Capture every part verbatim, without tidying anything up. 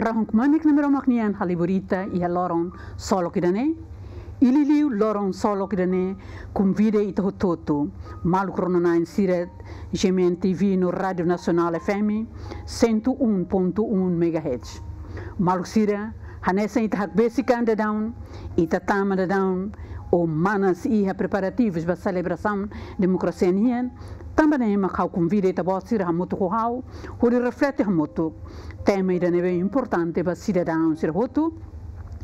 Rahun kmanek Nai Maromak nian halibur ita iha loron solok ida-ne'e, i liuliu loron solok ida-ne'e konvida ita hotu-hotu, maluk rona-na'in sira, G M N T V no Rádiu Nasionál F M, cento um ponto um megahertz. Maluk sira, hanesan ita hakbesik an daudaun, ita tama daudaun, ou manas iha preparativus ba selebrasaun demokrasia nian, tanba ne'e mak ha'u konvida ita-boot sira hamutuk ho ha'u, hodi reflete hamutuk tema ida ne'ebé importante ba sidadaun sira hotu,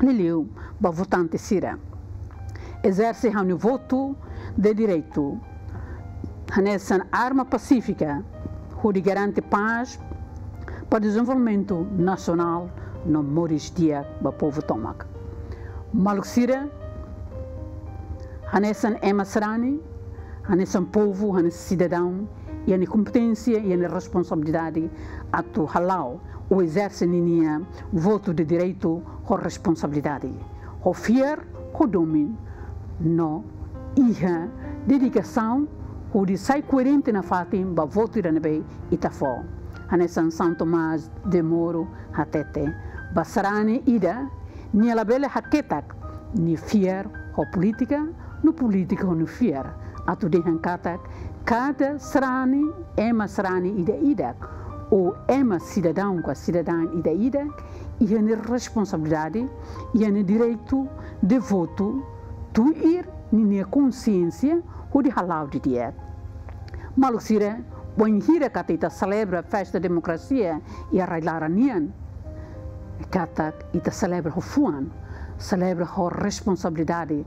liuliu ba votante sira. Ezerse ha'u-nia votu de direitu hanesan arma pasífika hodi garante pás ba dezenvolvimentu nasionál no moris di'ak ba povu tomak. Maluk sira, hanesan ema sarani, hanesan povu, hanesan sidadaun, iha nia kompeténsia, iha nia responsabilidade atu hala'o ou ezerse ninia votu de direitu ho responsabilidade, ho fiar, ho domin, no iha dedikasaun hodi sai koerente nafatin ba votu ida ne'ebé ita fó. Hanesan São Tomás de Moro hatete, ba sarani ida, nia labele haketak nia fiar ho polítika, no polítika ho nia fiar. Atu dehan katak, kada sarani, ema sarani ida-idak, ou ema sidadaun ka sidadaun ida-idak, iha nia responsabilidade, iha nia direitu de votu, tuir ninia konsiénsia, hodi hala'o didi'ak. Maluk sira, bainhira katak ita selebra festa demokrasia iha rai-laran nian, katak ita selebra ho fuan, selebra ho responsabilidade,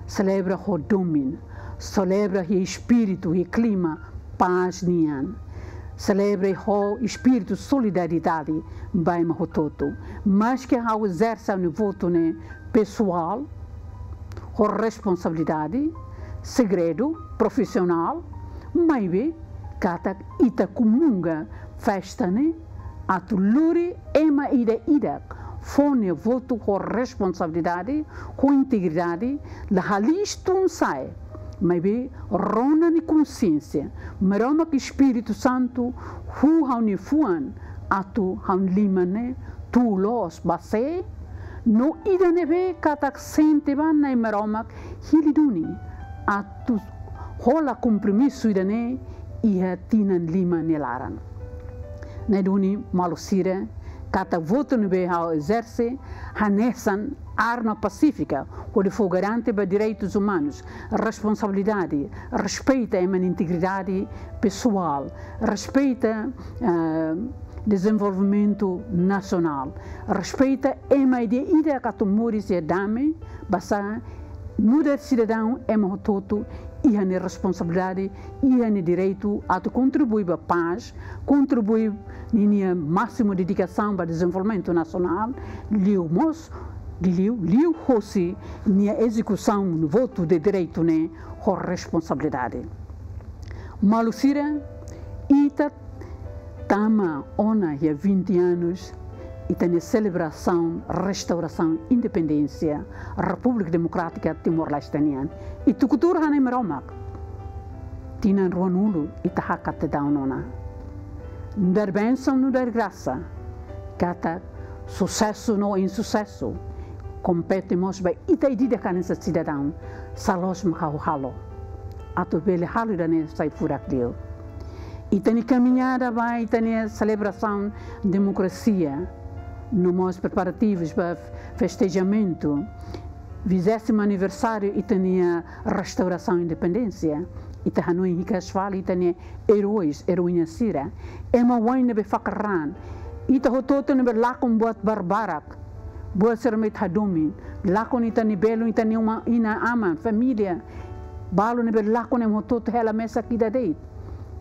selebra ho domin, selebra iha espíritu, iha klima pás nian, selebra ho espíritu solidariedade ba ema hotu-hotu. Maske ha'u ezerse ha'u-nia votu ne'e pesoál, ho responsabilidade, segredu, profisionál, maibé katak ita komunga festa ne'e atu lori ema ida-idak fó nia votu ho responsabilidade, ho integridade, la halis tun sa'e, maibé rona nia konsiénsia, Maromak Espíritu Santu huu ha'u-nia fuan atu ha'u-nia liman ne'e tun loos ba sé, no ida ne'ebé katak sente ba Nai Maromak hili duni atu hola kompromisu ida-ne'e iha tinan lima nia laran. Ne'e duni maluk sira, katak votu ne'ebé ha'u ezerse hanesan arma pasífika hodi fó garante ba direitus umanus, responsabilidade, respeita ema nia integridade pesoál, respeita, eh, dezenvolvimentu nasionál, respeita ema ida-idak atu moris iha dame, basá nu'udar sidadaun ema hotu-hotu iha nia responsabilidade, iha nia direitu atu kontribui ba pás, kontribui ninia másimu dedikasaun ba dezenvolvimentu nasionál, liu mós, liu, liuhosi nia ezekusaun votu de direitu ne'e ho responsabilidade. Maluk sira, ita tama ona iha vinte anos ita-nia selebrasaun restaurasaun independénsia Repúblika Demokrátika Timor-Leste nian. I tuku tuur ha'u-nia Maromak, tinan ruanulu ita hakat daudaun ona. Nu'udar bensaun, nu'udar grasa, katak susesu no insusesu kompete mós ba ita ida-idak hanesan sidadaun, sá loos mak ha'u halo atu bele halo ida-ne'e sai furak liu. Ita-nia kamiñada ba ita-nia selebrasaun demokrasia, no mós preparativus ba festejamentu vigésimo aniversáriu ita-nia restaurasaun independénsia. Ita hanoin hikas fali ita-nia eróis, eroína sira, ema oan ne'ebé fakar raan, ita hotu-hotu ne'ebé lakon buat barbarak, buat sira ne'ebé ita hadomi, lakon ita-nia belun, ita-nia uma, inan-aman, família, balu ne'ebé lakon, ema hotu-hotu hela mesak ida de'it.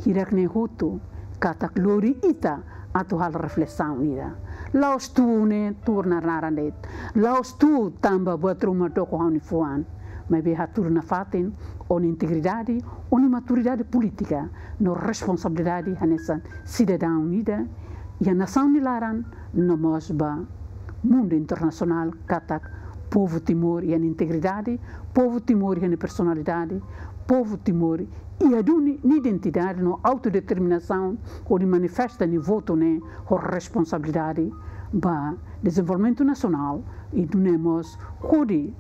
Hirak-ne'e hotu katak lori ita atu halo reflesaun ida. La'ós tuur ne'e tuur naran-naran de'it. La'ós tuur tanba buat ruma doko ha'u-nia fuan. Maibé hatudu nafatin, ó-nia integridade, ó-nia maturidade polítika, no responsabilidade hanesan sidadaun ida iha nasaun nia laran, no mós ba mundu internasionál, katak povu Timor iha nia integridade, povu Timor iha nia personalidade, povu Timor iha duni nia identidade no autodeterminasaun, hodi manifesta nia votu ne'e ho responsabilidade ba dezenvolvimentu nasionál, i nune'e mós hodi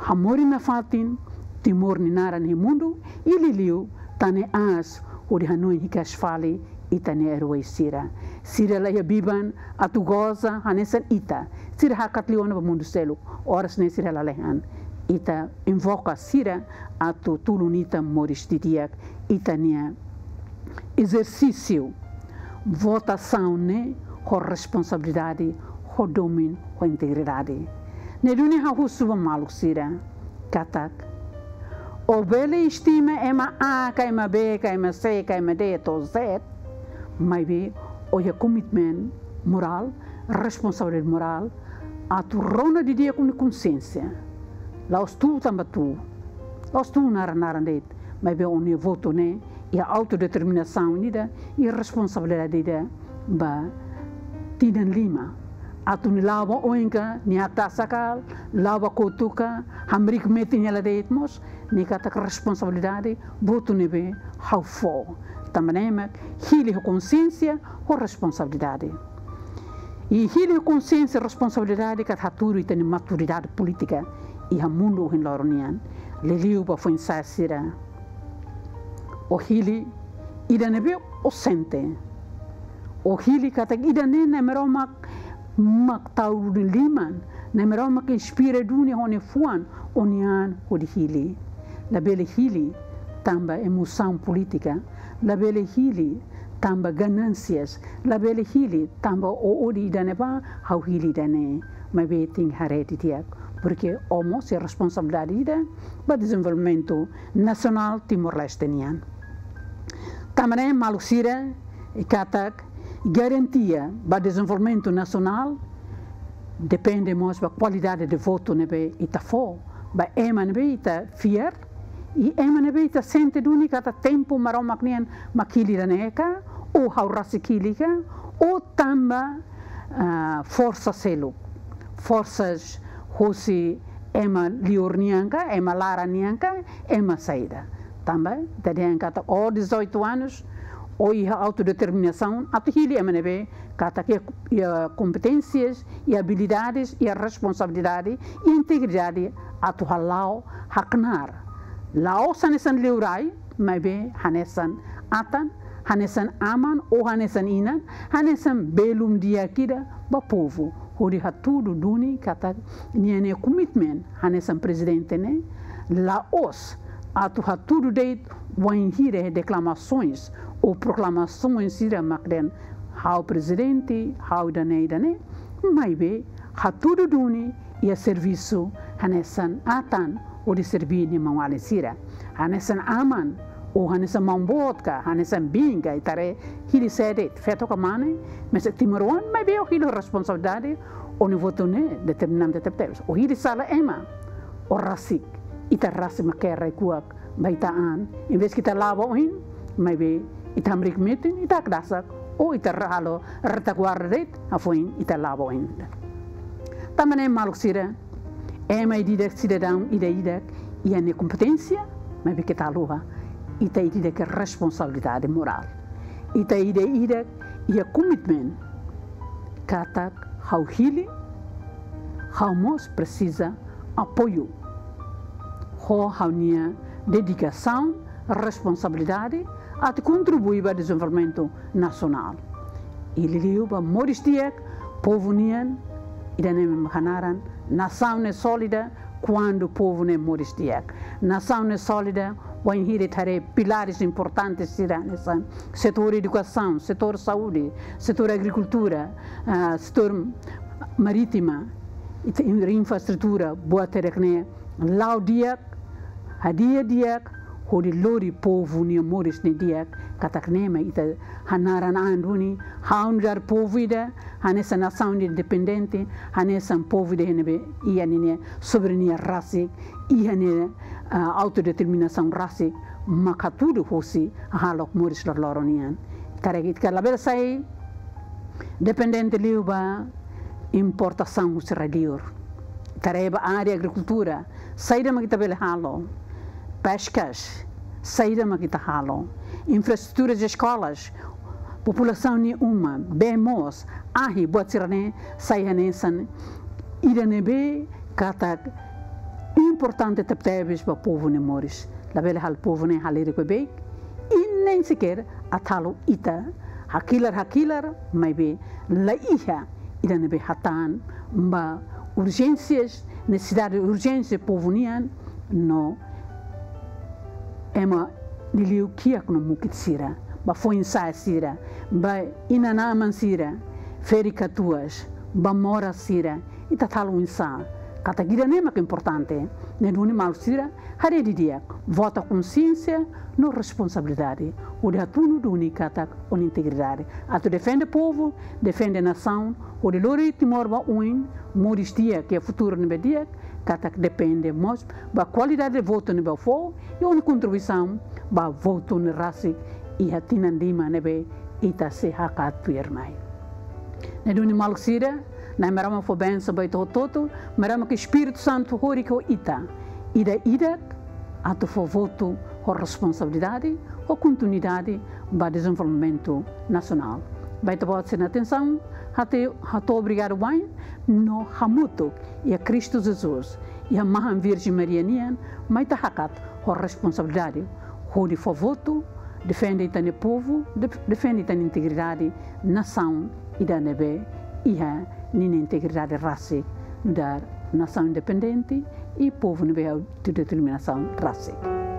hamoris nafatin Timor nia naran iha mundu, i liuliu tan ne'e aas hodi hanoin hikas fali ita-nia eroi sira. Sira la iha biban atu goza hanesan ita. Sira hakat liu ona ba mundu seluk. Oras ne'e sira lalehan. Ita invoka sira atu tulun ita moris didi'ak ita-nia ezersísiu votasaun ne'e ho responsabilidade, ho domin, ho integridade. Ne'e duni ha'u husu ba maluk sira katak, ó bele estima ema A ka ema B ka ema C ka ema D to'o Z, maibé ó iha komitmen morál, responsabilidade morál, atu rona didi'ak ó-nia konsiénsia. La'ós tuur tanba tuur, la'ós tuur naran-naran de'it, maibé ó-nia votu ne'e iha autodeterminasaun ida, iha responsabilidade ida ba tinan lima. Atu nia la'o ba oin ka, nia atu sa'e ka, la'o ba kotuk ka, hamriik metin hela de'it mós, ne'e katak responsabilidade, votu ne'ebé ha'u fó. Tanba ne'e mak hili ho konsiénsia, ho responsabilidade. I hili ho konsiénsia, responsabilidade katak hatudu ita-nia maturidade polítika iha mundu ohin loron nian. Liuliu ba foin-sa'e sira. Ó hili ida ne'ebé ó sente. Ó hili katak ida-ne'e Nai Maromak mak tau ó-nia liman, Nai Maromak inspira duni ó-nia fuan, ó-nia an hodi hili. Labele hili tanba emosaun polítika, labele hili tanba ganánsias, labele hili tanba ó odi ida-ne'ebá, ha'u hili ida-ne'e. Maibé tenke haree didi'ak, porke ó mós iha responsabilidade ida ba dezenvolvimentu nasionál Timor-Leste nian. Tanba ne'e maluk sira, i katak garantia ba dezenvolvimentu nasionál depende mós ba kualidade de votu ne'ebé ita fó ba ema ne'ebé ita fiar, i ema ne'ebé ita sente duni katak tempu Maromak nian mak hili ida-ne'e ka, ou ha'u rasik hili ka, ou tanba, ah, forsa seluk, forsas hosi ema liur nian ka, ema laran nian ka, ema saida. Tanba ita dehan katak ó dezoito anos, ó iha autodeterminasaun atu hili ema ne'ebé katak iha, iha kompeténsias, iha abilidades, iha responsabilidade, iha integridade atu hala'o haknaar. La'ós hanesan liurai, maibé hanesan atan, hanesan aman, ou hanesan inan, hanesan belun di'ak ida ba povu. Hodi hatudu duni katak ninia komitmen hanesan prezidente ne'e la'ós atu hatudu de'it wainhira deklamasoens ou proklamasoens sira mak dehan ha'u prezidente, ha'u ida-ne'e, ida-ne'e, maibé hatudu duni iha servisu hanesan atan hodi serbí nia maun-alin sira. Hanesan aman, ou hanesan maun-boot ka, hanesan biin ka, ita haree hili sé de'it, feto ka mane, mesak timoroan, maibé ó hili responsabilidade, ó-nia votu ne'e determinante tebetebes. Ó hili sala ema, ó rasik, ita rasik mak ke'e rai-kuak ba ita an. Envezke ita la'o ba oin, maibé ita hamriik metin, ita hakdasak, ou ita halo retaguarda de'it, hafoin ita la'o ba oin. Tanba ne'e maluk sira, ema ida-idak, sidadaun ida-idak iha nia kompeténsia, maibé keta haluha, ita ida-idak iha responsabilidade morál. Ita ida-idak iha komitmen katak ha'u hili, ha'u mós presiza apoiu ho ha'u-nia dedikasaun, responsabilidade atu kontribui ba dezenvolvimentu nasionál. I liuliu ba moris di'ak povu nian, ida-ne'e mak hanaran nasaun ne'e sólida kuandu povu ne'e moris di'ak. Nasaun ne'e sólida wainhira ita haree pilares importantes sira hanesan setór edukasaun, setór saúde, setór agrikultura, ah, setór marítima, i te-, infraestrutura, buat hirak ne'e la'o di'ak, hadi'a di'ak, hodi lori povu nia moris ne'e di'ak, katak ne'e mak ita hanaran an duni, ha'u nu'udar povu ida, hanesan nasaun independente, hanesan povu ida ne'ebé iha ninia soberania rasik, iha nia, ah, autodeterminasaun rasik, mak hatudu hosi hahalok moris loroloron nian. Karik ita labele sai dependente liu ba importasaun husi rai liur. Ita haree ba área agrikultura, saida mak ita bele halo? Peskas, Saida mak ita halo? Infraestrutura de eskolas, populasaun nia uma, bee moos, ahi, buat sira-ne'e sai hanesan ida ne'ebé katak importante tebetebes ba povu nia moris. Labele halo povu ne'e halerik beibeik, i nem sequer atu halo ita hakilar hakilar, maibé la iha ida ne'ebé hatán ba urjénsias, nesesidade urjénsia povu nian, no ema liuliu kiak no mukit sira, ba foin-sa'e sira, ba inan-aman sira, ferik-katuas, ba moras sira, ita atu halo oinsá? Katak ida-ne'e mak importante. Ne'e duni maluk sira, haree didi'ak, vota konsiénsia no responsabilidade, hodi hatunu duni katak ó-nia integridade atu defende povu, defende nasaun, hodi lori Timor ba oin, moris di'ak, iha futuru ne'ebé di'ak, katak depende mós ba kualidade de votu ne'ebé ó fó, i ó-nia kontribuisaun ba votu ne'e rasik iha tinan lima ne'ebé ita sei hakat tuirmai. Ne'e duni maluk sira, Na'i Maromak fó bensaun ba ita hotu-hotu, Maromak Espíritu Santu horik ho ita ida-idak atu fó votu ho responsabilidade, ho kontinuidade ba dezenvolvimentu nasionál. Ba ita-boot sira-nia atensaun, hato'o, hato'o obrigadu wa'in, no hamutuk iha Kristu Jesus, iha Mahan Virjen Maria nian, mai ita hakat ho responsabilidade, hodi fó votu, defende ita-nia povu, def-, defende ita-nia integridade, nasaun ida ne'ebé iha ninia integridade rasik, nu'udar nasaun independente i povu ne'ebé iha autodeterminasaun rasik.